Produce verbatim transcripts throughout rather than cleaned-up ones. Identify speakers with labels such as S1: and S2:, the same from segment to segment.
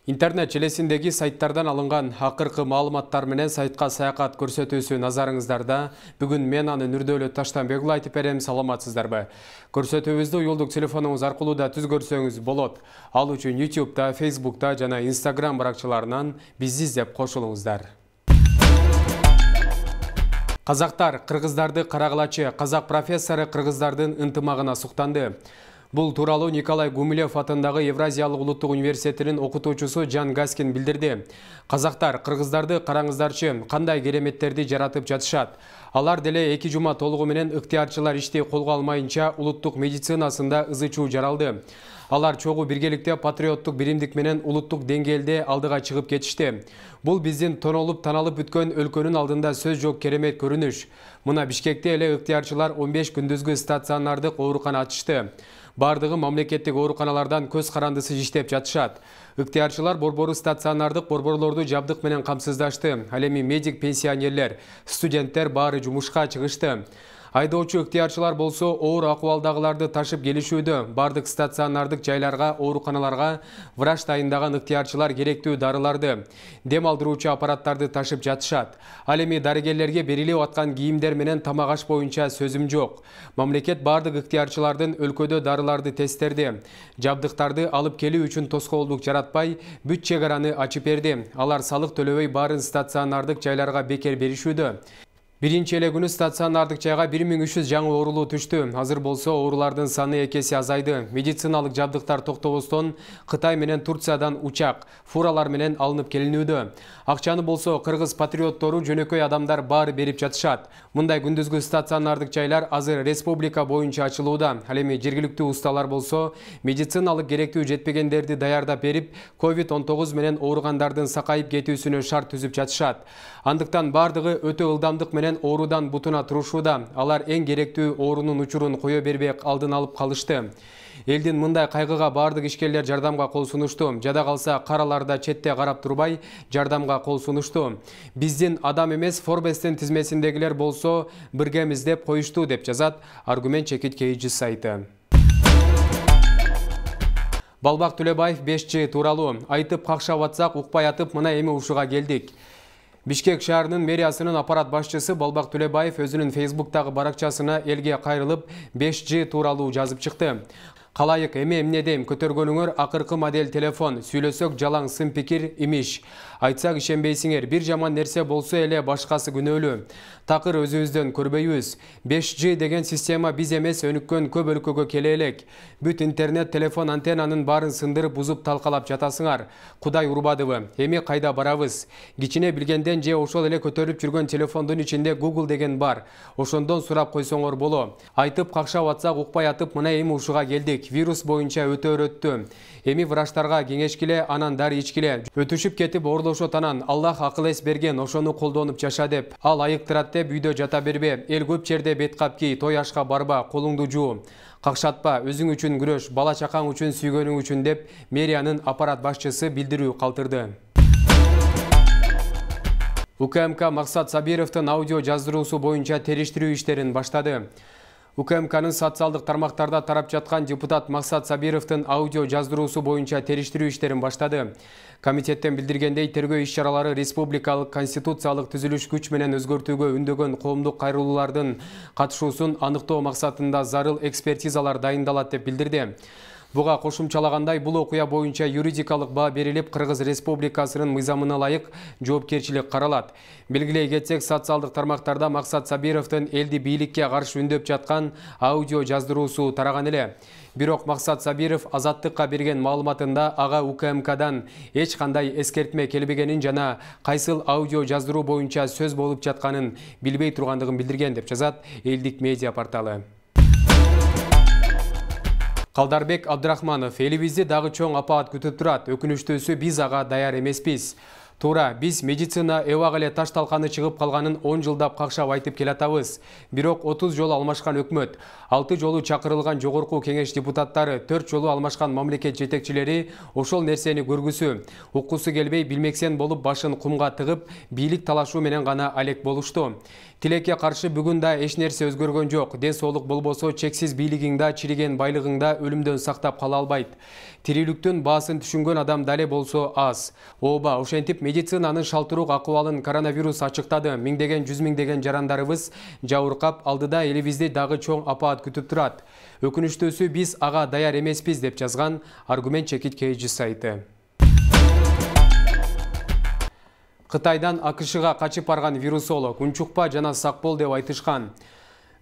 S1: Интернет желесиндеги сайттардан алынган акыркы маалыматтар менен сайтка саякат көрсөтүүсү назарыңыздарда. Бүгүн мен аны Нурдөлөт Таштанбекұлы айтып берем, саламатсыздарбы? Көрсөтүүбүздү уюлдук телефонуңуз аркылуу да түзгөрсөңүз болот. Ал үчүн ютубта, фейсбукта жана инстаграм баракчаларынан бизди издеп кошулуңуздар. Казактар кыргыздарды карагылачы. Казак профессору кыргыздардын ынтымагына суктанды. Бул тууралуу Николай Гумилев атындагы Евразиялык улуттук университетинин окутуучусу Жан Гаскин билдирди. Казактар кыргыздарды караңыздарчы, кандай кереметтерди жаратып жатышат. Алар деле эки жума толугу менен ыктыярчылар ишти колго алмайынча улуттук медицинасында ызы-чуу жаралды. Алар чогуу биргеликте патриоттук биримдик менен улуттук деңгээлде алдыга чыгып кетишти. Бул биздин тонолуп таналып бүткөн өлкөнүн алдында сөз жок керемет көрүнүш. Мына Бишкекте эле ыктыярчылар он беш күндүзгү стационардык оорукана ачышты. Бардыгы мамлекеттик ооруканалардан көз карандысыз иштеп жатышат. Ыктыярчылар борбору стационардык борборлорду жабдык менен камсыздашты. Ал эми медик пенсионерлер, студенттер баары жумушка чыгышты. Айдоочу ыктыярчылар болсо оор акыбалдагыларды ташып келишүүдө. Бардык стационардык жайларга, ооруканаларга врач дайындаган ыктыярчылар керектүү дарыларды, дем алдыруучу аппараттарды ташып жатышат. Ал эми дарыгерлерге берилип аткан кийимдер менен тамак аш боюнча сөзүм жок. Мамлекет бардык ыктыярчылардын өлкөдө дарыларды тесттерди. Жабдыктарды алып келүү үчүн тоскоолдук жаратпай, бүт чек араны ачып берди. Алар салык төлөбөй баарын стационардык жайларга бекер беришүүдө. Биринчи эле күнү стационардык жайга бир миң үч жүз жаңы оорулуу түштү. Азыр болсо оорулардын саны эки эсе азайды. Медициналык жабдыктар токтобостон Кытай менен Турциядан учак, фуралар менен алынып келинүүдө. Акчаны болсо кыргыз патриоттору, жөнөкөй адамдар баары берип жатышат. Мындай күндүзгү стационардык жайлар азыр республика боюнча ачылууда. Ал эми жергиликтүү усталар болсо медициналык керектүү жетпегендерди даярдап берип, ковид он тогуз менен ооругандардын сакайып кетүүсүнө шарт түзүп жатышат. Андыктан бардыгы өтө ылдамдык менен оорудан бутуна турушууда. Алар эң керектүү оорунун учурун кое бербей алдын алып калышты. Элдин мындай кайгыга бардык ишкерлер жардамга кол сунушту. Жада калса караларда четте карап турбай жардамга кол сунушту. Биздин адам эмес Forbes'тин тизмесиндегилер болсо биргемиз деп коюшту, деп жазат Аргумент Чекит Кейджи сайты. Балбак Төлөбаев беш жи тууралуу айтып какшап атсак укпай атып мына эми ушуга келдик. Бишкек шаарынын мэриясынын аппарат башчысы Балбак Төлөбаев өзүнүн фейсбуктагы баракчасына элге кайрылып беш жи тууралуу жазып чыкты. Калайык эме эмне дейм, көтөргөнүңөр акыркы модель телефон, сүйлөсөк жалаң сын пикир имиш. Айтсак ишенбейсиңер, бир жаман нерсе болсо эле башкасы күнөөлүү. Такыр өзүбүздөн көрбөйбүз. беш жи деген система биз эмес өнүккөн көп өлкөгө келе элек. Бүт интернет, телефон, антеннанын баарын сындырып, бузуп талкалап жатасыңар. Кудай урбадыбы? Эми кайда барабыз? Кичине билгенден же ошол эле көтөрүп жүргөн телефондун ичинде Google деген бар. Ошондон сурап койсоңор боло. Айтып какшап атсак укпай атып мына эми ушуга келдик. Вирус боюнча өтө өрөттү. Эми врачтарга кеңешкиле, анан дары ичкиле. Өтүшүп кетип оорлошот, анан Аллах акыл эс берген, ошону колдонуп жаша деп. Ал айыктырат деп үйдө жата бербе. Эл көп жерде бет кап ки, той ашка барба, колуңду жуу. Какшатпа, өзүң үчүн күрөш, бала чакаң үчүн, сүйгөнүң үчүн деп мэриянын аппарат башчысы билдирүү калтырды. УКМК Максат Сабировдун аудио жаздыруусу боюнча териштирүү иштерин баштады. УКМКнын социалдык тармактарда тарап жаткан депутат Максат Сабировдун аудио жаздыруусу боюнча териштирүү иштерин баштады. Комитеттен билдиргендей, тергөө иш-чаралары республикалык конституциялык түзүлүш күч менен өзгөртүүгө үндөгөн коомдук кайрылуулардын катышуусун аныктоо максатында зарыл экспертизалар дайындалат деп билдирди. Буга кошумчалагандай, бул окуя боюнча юридикалык баа берилип, Кыргыз Республикасынын мыйзамына ылайык жоопкерчилик каралат. Белгилей кетсек, социалдык тармактарда Максат Сабировдун элди бийликке каршы үндөп жаткан аудио жаздыруусу тараган эле. Бирок Максат Сабиров азаттыкка берген маалыматында ага УКМКдан эч кандай эскертме келбегенин жана кайсыл аудио жаздыруу боюнча сөз болуп жатканын билбей тургандыгын билдирген, деп жазат Элдик медиа порталы. Калдарбек Абдрахманов: элибизди дагы чоң апаат күтүп турат. Өкүнүчтүүсү биз ага даяр эмеспиз. Туура, биз медицина эбак эле таш талканы чыгып калганын он жылдап какшап айтып келатабыз. Бирок отуз жолу алмашкан өкмөт, алты жолу чакырылган жогорку кеңеш депутаттары, төрт жолу алмашкан мамлекет жетекчилери ошол нерсени көргүсү, уккусу келбей билмексен болуп башын кумга тыгып, бийлик талашуу менен гана алек болушту. Тилекке каршы бүгүн да эч нерсе өзгөргөн жок. Ден соолук болбосо чексиз бийлигиңда, чириген байлыгыңда өлүмдөн сактап кала албайт. Тирүүлүктүн баасын түшүнгөн адам дале болсо аз. Ооба, ошентип медицинанын шалтыруук акыбалын коронавирус ачыктады. Миңдеген, жүз миңдеген жарандарыбыз жабыркап, алдыда элибизди дагы чоң апаат күтүп турат. Өкүнүчтүүсү биз ага даяр эмеспиз деп жазган Аргумент чекит кейжи сайты. Кытайдан АКШга качып барган вирусолог унчукпа жана сак бол деп айтышкан.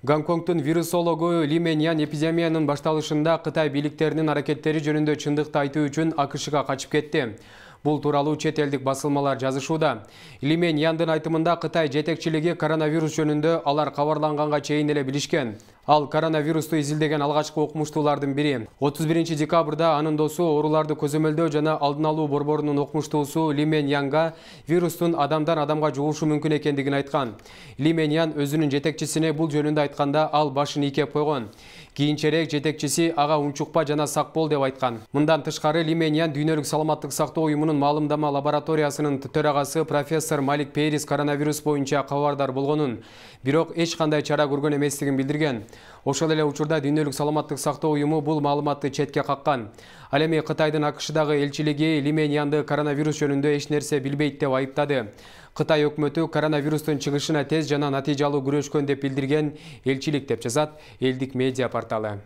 S1: Гонконгдун вирусологу Ли Меньян эпидемиянын башталышында Кытай бийликтеринин аракеттери жөнүндө чындыкты айтуу үчүн АКШга качып кетти. Бул тууралуу чет элдик басылмалар жазышууда. Ли Меньяндын айтымында Кытай жетекчилиги коронавирус жөнүндө алар кабарланганга чейин эле билишкен. Ал коронавирусту изилдеген алгачкы окумуштуулардын бири. отуз биринчи декабрда анын досу ооруларды көзөмөлдөө жана алдын алуу борборунун окумуштуусу Ли Меньянга вирустун адамдан адамга жугушу мүмкүн экендигин айткан. Ли Меньян өзүнүн жетекчисине бул жөнүндө айтканда ал башын ийкеп койгон. Кийинчерээк жетекчиси ага унчукпа жана сак бол деп айткан. Мындан тышкары Ли Меньян Дүйнөлүк саламаттык сактоо уюмунун маалымдама лабораториясынын төрагасы профессор Малик Пейрис коронавирус боюнча кабардар болгонун, бирок эч кандай чара көргөн эместигин билдирген. Ошол эле учурда Дүйнөлүк саламаттык сактоо уюму бул маалыматты четке каккан. Ал эми Кытайдын АКШдагы элчилиги Ли Меньянды коронавирус жөнүндө эч нерсе билбейт деп айыптады. Кытай өкмөтү коронавирустун чыгышына тез жана натыйжалуу күрөшкөн деп билдирген элчилик деп жазат элдик медиа порталы.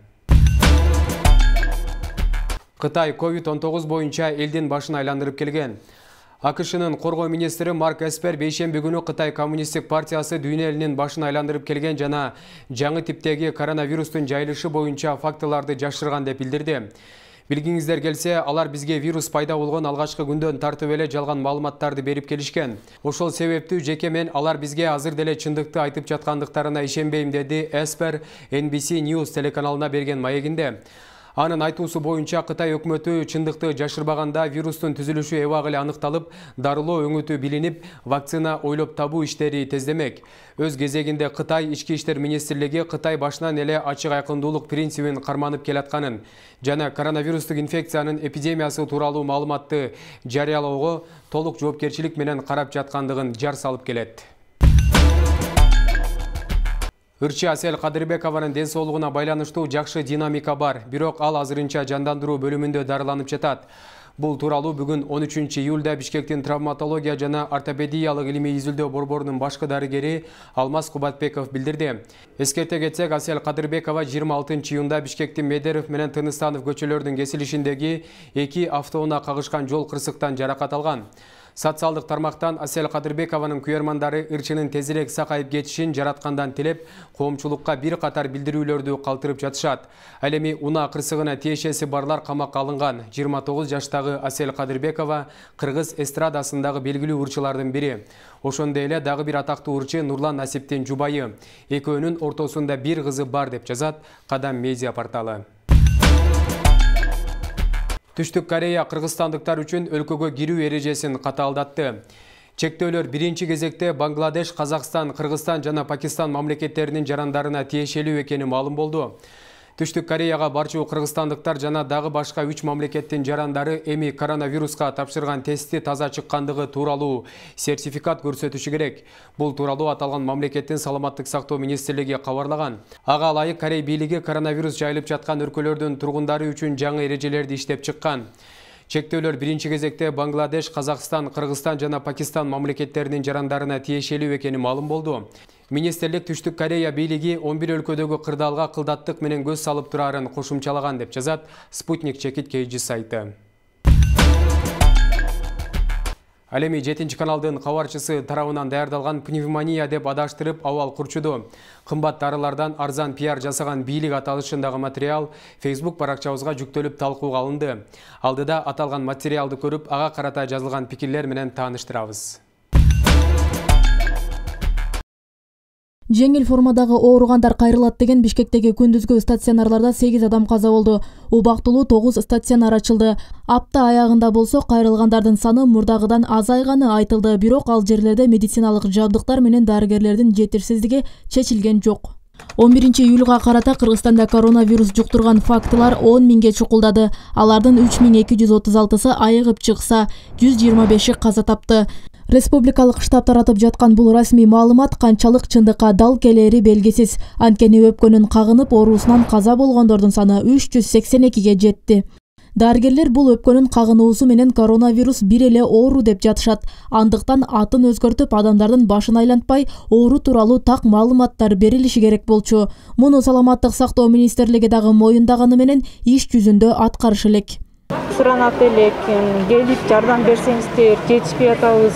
S1: Кытай ковид он тогуз боюнча элдин башын айландырып келген. АКШнын коргоо министри Марк Эспер бейшемби күнү Кытай коммунисттик партиясы дүйнө элинин башын айландырып келген жана жаңы типтеги коронавирустун жайылышы боюнча фактыларды жашырган деп билдирди. Билгиңиздер келсе, алар бизге вирус пайда болгон алгачкы күндөн тартып эле жалган маалыматтарды берип келишкен. Ошол себептүү жеке мен алар бизге азыр деле чындыкты айтып жаткандыктарына ишенбейм, деди Эспер Эн Би Си News телеканалына берген маегинде. Анын айтуусу боюнча Кытай өкмөтү чындыкты жашырбаганда вирустун түзүлүшү эбак эле аныкталып, дарылоо өңүтү билинип, вакцина ойлоп табуу иштери тездемек. Өз кезегинде Кытай ички иштер министрлиги Кытай башынан эле ачык айкындуулук принцибин карманып келатканын жана коронавирустук инфекциянын эпидемиясы тууралуу маалыматты жарыялоого толук жоопкерчилик менен карап жаткандыгын жар салып келет. Ырчы Асел Кадырбекованын ден соолугуна байланыштуу жакшы динамика бар, бирок ал азырынча жандандыруу бөлүмүндө дарыланып жатат. Бул тууралуу бүгүн он үчүнчү июлда Бишкектин травматология жана ортопедиялык илимий изилдөө борборунун башкы дарыгери Алмаз Кубатбеков билдирди. Эскерте кетсек, Асел Кадырбекова жыйырма алтынчы июнда Бишкектин Медеров менен Тыныстанов көчөлөрүнүн кесилишиндеги эки автоунаа кагышкан жол кырсыктан жаракат алган. Социалдык тармактан Асел Кадырбекованын күйөрмандары ырчынын тезирээк сакайып кетишин жараткандан тилеп, коомчулукка бир катар билдирүүлөрдү калтырып жатышат. Ал эми унаа кырсыгына тиешеси барлар камакка алынган. жыйырма тогуз жаштагы Асел Кадырбекова кыргыз эстрадасындагы белгилүү ырчылардын бири. Ошондой эле дагы бир атактуу ырчы Нурлан Насиптин жубайы. Экөөнүн ортосунда бир кызы бар деп жазат Кадам медиа порталы. Түштүк Корея кыргызстандыктар үчүн өлкөгө кирүү эрежесин катаалдатты. Чектөөлөр биринчи кезекте Бангладеш, Казакстан, Кыргызстан жана Пакистан мамлекеттеринин жарандарына тиешелүү экени маалым болду. Түштүк Кореяга барчу кыргызстандыктар жана дагы башка үч мамлекеттин жарандары эми коронавируска тапшырган тести таза чыккандыгы тууралуу сертификат көрсөтүшү керек. Бул тууралуу аталган мамлекеттин саламаттык сактоо министрлиги кабарлаган. Ага ылайык Корей бийлиги коронавирус жайылып жаткан өлкөлөрдүн тургундары үчүн жаңы эрежелерди иштеп чыккан. Чектөөлөр биринчи кезекте Бангладеш, Казакстан, Кыргызстан жана Пакистан мамлекеттеринин жарандарына тиешелүү экени маалым болду. Министрлик Түштүк Корея бийлиги он бир өлкөдөгү кырдаалга кылдаттык менен көз салып турарын кошумчалаган деп жазат Спутник чекит кейжи сайты. Ал эми жетинчи каналдын кабарчысы тарабынан даярдалган пневмония деп адаштырып абал курчуду. Кымбат дарылардан арзан пиар жасаган бийлик аталышындагы материал Facebook баракчабызга жүктөлүп талкууга алынды. Алдыда аталган материалды көрүп, ага карата жазылган пикирлер менен тааныштырабыз.
S2: Жеңил формадагы ооругандар кайрылат деген Бишкектеги күндүзгү стационарларда сегиз адам каза болду. Убактылуу тогуз стационар ачылды. Апта аягында болсо кайрылгандардын саны мурдагыдан азайганы айтылды. Бирок ал жерлерде медициналык жабдыктар менен дарыгерлердин жетишсиздиги чечилген жок. он биринчи июлга карата Кыргызстанда коронавирус жуктурган фактылар он миңге чукулдады. Алардын үч миң эки жүз отуз алтысы айыгып чыкса, жүз жыйырма беши каза тапты. Республикалык штаб таратып жаткан бул расмий маалымат канчалык чындыкка дал келери белгисиз. Анткени өпкөнүн кагынып оорусунан каза болгондордун саны үч жүз сексен экиге жетти. Дарыгерлер бул өпкөнүн кагынуусу менен коронавирус бир эле оору деп жатышат. Андыктан атын өзгөртүп, адамдардын башын айлантпай, оору тууралуу так маалыматтар берилиши керек болчу. Муну саламаттык сактоо министрлиги дагы моюндаганы менен иш жүзүндө аткарыш элек.
S3: Суранат элек, келип жардам берсеңиздер, жетишпей атабыз.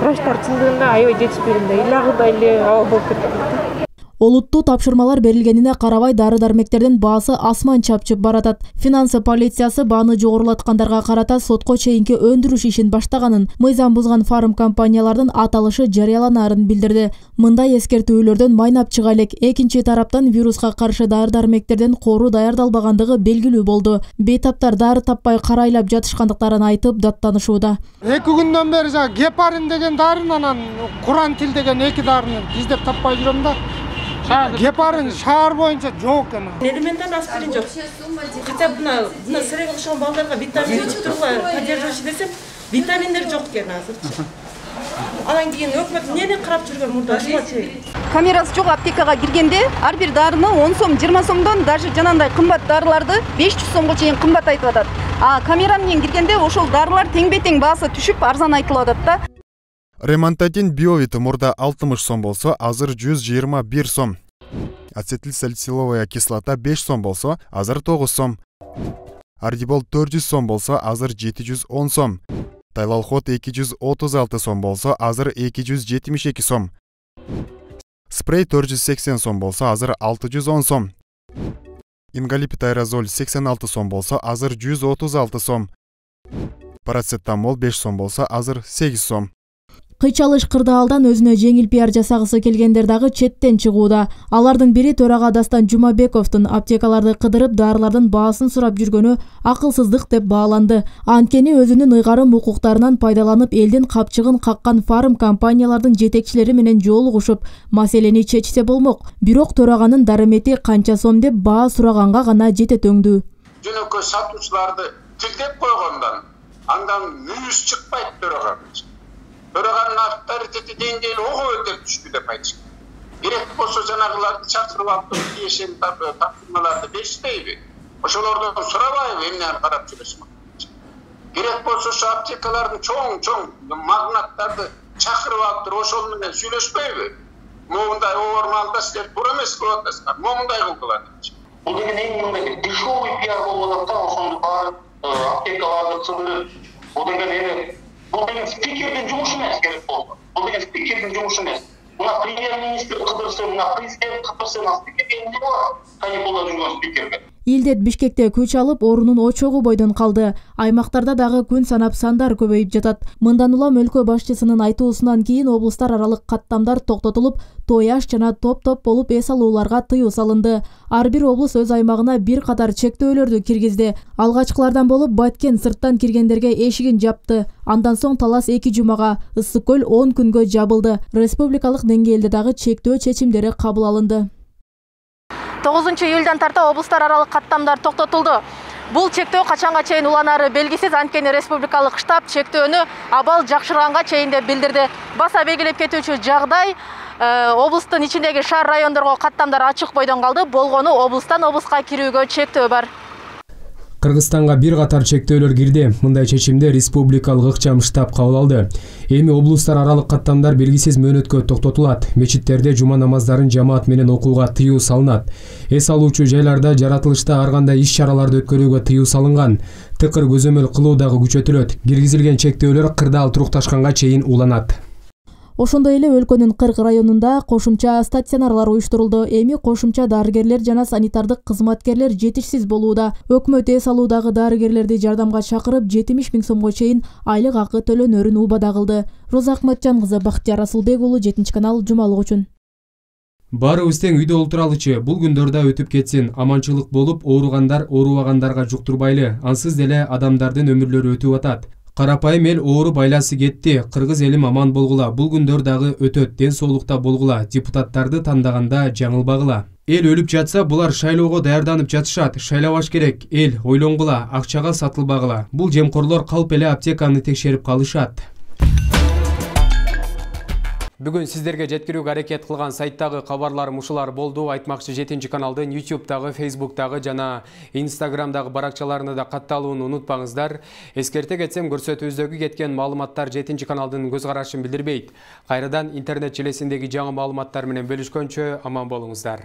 S3: Врачтар чындыгында аябай жетишпегенде, илагыдай эле абал болуп кетет.
S2: Олуттуу тапшырмалар берилгенине карабай дары-дармектердин баасы асман чапчып баратат. Финансы полициясы бааны жогорулаткандарга карата сотко чейинки өндүрүш ишин баштаганын, мыйзам бузган фарм компаниялардын аталышы жарыяланаарын билдирди. Мындай эскертүүлөрдөн майнап чыга элек. Экинчи тараптан вируска каршы дары-дармектерден кору даярдалбагандыгы белгилүү болду. Бейтаптар дары таппай карайлап жатышкандыктарын айтып даттанышууда.
S4: эки күндөн бери гепарин деген дарыны, анан курантил деген эки дарыны издеп таппай жүрөм да. Гепарин шаар боюнча жок экен.
S3: Элементарный аспирин жок. Хотя бы мына мына сырек окшогон балдарга витамин ичип тургула, поддерживающий десем, витаминдер жок экен азырчы. Анан кийин өкмөт эмнени карап жүргөн мурда ушуга чейин.
S5: Камерасы жок аптекага киргенде ар бир дарыны он сом, жыйырма сомдон, даже жанагындай кымбат дарыларды беш жүз сомго чейин кымбат айтып атат. А камера менен киргенде ошол дарылар тең-бетең баасы түшүп арзан айтылып атат да.
S6: Ремонтатин биовит мурда алтымыш сом болсо, азыр жүз жыйырма бир сом. Ацетилсалициловая кислота беш сом болсо, азыр тогуз сом. Ардибол төрт жүз сом болсо, азыр жети жүз он сом. Тайлалхот эки жүз отуз алты сом болсо, азыр эки жүз жетимиш эки сом. Спрей төрт жүз сексен сом болсо, азыр алты жүз он сом. Ингалипит аэрозоль сексен алты сом болсо, азыр жүз отуз алты сом. Парацетамол беш сом болсо, азыр сегиз сом.
S2: Кыйчалыш кырдаалдан өзүнө жеңил пиар жасагысы келгендер дагы четтен чыгууда. Алардын бири төрага Дастан Жумабековдун аптекаларды кыдырып дарылардын баасын сурап жүргөнү акылсыздык деп бааланды. Анткени өзүнүн ыйгарым укуктарынан пайдаланып элдин капчыгын каккан фарм компаниялардын жетекчилери менен жолугушуп, маселени чечсе болмок. Бирок төраганын дарымети канча сом деп баа сураганга гана жетет өңдүү.
S7: Жөнөкөй сатуучуларды тилдеп койгондон андан мүйүз чыкпайт төрага. Төраганын авторитети деңгээли ого өтөп түштү деп айтышат. Керек болсо жанагыларды чакырып алып тиешен тапшырмаларды беришпейби? Ошолордон сурабайбы эмнени карап жүрөсүң? Керек болсо ошо аптекалардын чоң-чоң магнаттарды чакырып алып туруп ошол менен сүйлөшпөйбү? Момундай оормалда силер туура эмес кылып атасыңар. Момундай кылдылар.
S8: Бул деген эң мындай дешевый пиар болуп атат да, ошондо барып аптекаларды чыгырып, бул деген эми Бұл деген спикердің жұмысы емес керек болды. Бұл деген спикердің жұмысы емес. Мына премьер-министр қыдырсы, мына президент қыдырсы, мына спикер не болады? Каникулда жүрген спикерге.
S2: Илдет Бишкекте күч алып, орунун очогу бойдон калды. Аймактарда дагы күн санап сандар көбөйүп жатат. Мындан улам өлкө башчысынын айтуусунан кийин облустар аралык каттамдар токтотулуп, тояш жана топ-топ болуп эс алууларга тыюу салынды. Ар бир облус өз аймагына бир катар чектөөлөрдү киргизди. Алгачкылардан болуп Баткен сырттан киргендерге эшигин жапты. Андан соң Талас эки жумага, Ысык көл он күнгө жабылды. Республикалык деңгээлде дагы чектөө чечимдери кабыл алынды.
S9: тогузунчу июлдан тарта облустар аралык каттамдар токтотулду. Бул чектөө качанга чейин уланары белгисиз, анткени республикалык штаб чектөөнү абал жакшырганга чейин деп билдирди. Баса белгилеп кетүүчү жагдай облустун ичиндеги шаар райондорго каттамдар ачык бойдон калды. Болгону облустан облуска кирүүгө чектөө бар.
S1: Кыргызстанга бир катар чектөөлөр кирди. Мындай чечимди республикалык ыкчам штаб кабыл алды. Эми облустар аралык каттамдар белгисиз мөөнөткө токтотулат. Мечиттерде жума намаздарын жамаат менен окууга тыюу салынат. Эс алуучу жайларда жаратылышта ар кандай иш-чараларды өткөрүүгө тыюу салынган. Тыкыр көзөмөл кылуу дагы күчөтүлөт. Киргизилген чектөөлөр кырдаал турукташканга чейин уланат.
S2: Ошондой эле өлкөнүн кырк районунда кошумча стационарлар уюштурулду. Эми кошумча дарыгерлер жана санитардык кызматкерлер жетишсиз болууда. Өкмөт эс алуудагы дарыгерлерди жардамга чакырып, жетимиш миң сомго чейин айлык акы төлөнөрүн убада кылды. Роза Акматжан кызы, Бактияр Асылбек уулу, жетинчи канал, жумалык үчүн.
S1: Баарыбыз тең үйдө олтуралычы, бул күндөрдө өтүп кетсин, аманчылык болуп, ооругандар оорубагандарга жуктурбайлы, ансыз деле адамдардын өмүрлөрү өтүп атат. Карапайым эл ооруп айласы кетти, кыргыз элим аман болгула, бул күндөр дагы өтөт, ден соолукта болгула, депутаттарды тандаганда жаңылбагыла. Эл өлүп жатса, булар шайлоого даярданып жатышат, шайлабаш керек, эл ойлонгула, акчага сатылбагыла. Бул жемкорлор калп эле аптеканы текшерип калышат. Бүгүн сиздерге жеткирүүгө аракет кылган сайттагы кабарларым ушулар болду. Айтмакчы жетинчи каналдын ютубтагы, фейсбуктагы жана инстаграмдагы баракчаларына да катталууну унутпаңыздар. Эскерте кетсем, көрсөтүүбүздөгү кеткен маалыматтар жетинчи каналдын көз карашын билдирбейт. Кайрадан интернет желесиндеги жаңы маалыматтар менен бөлүшкөнчө аман болуңуздар.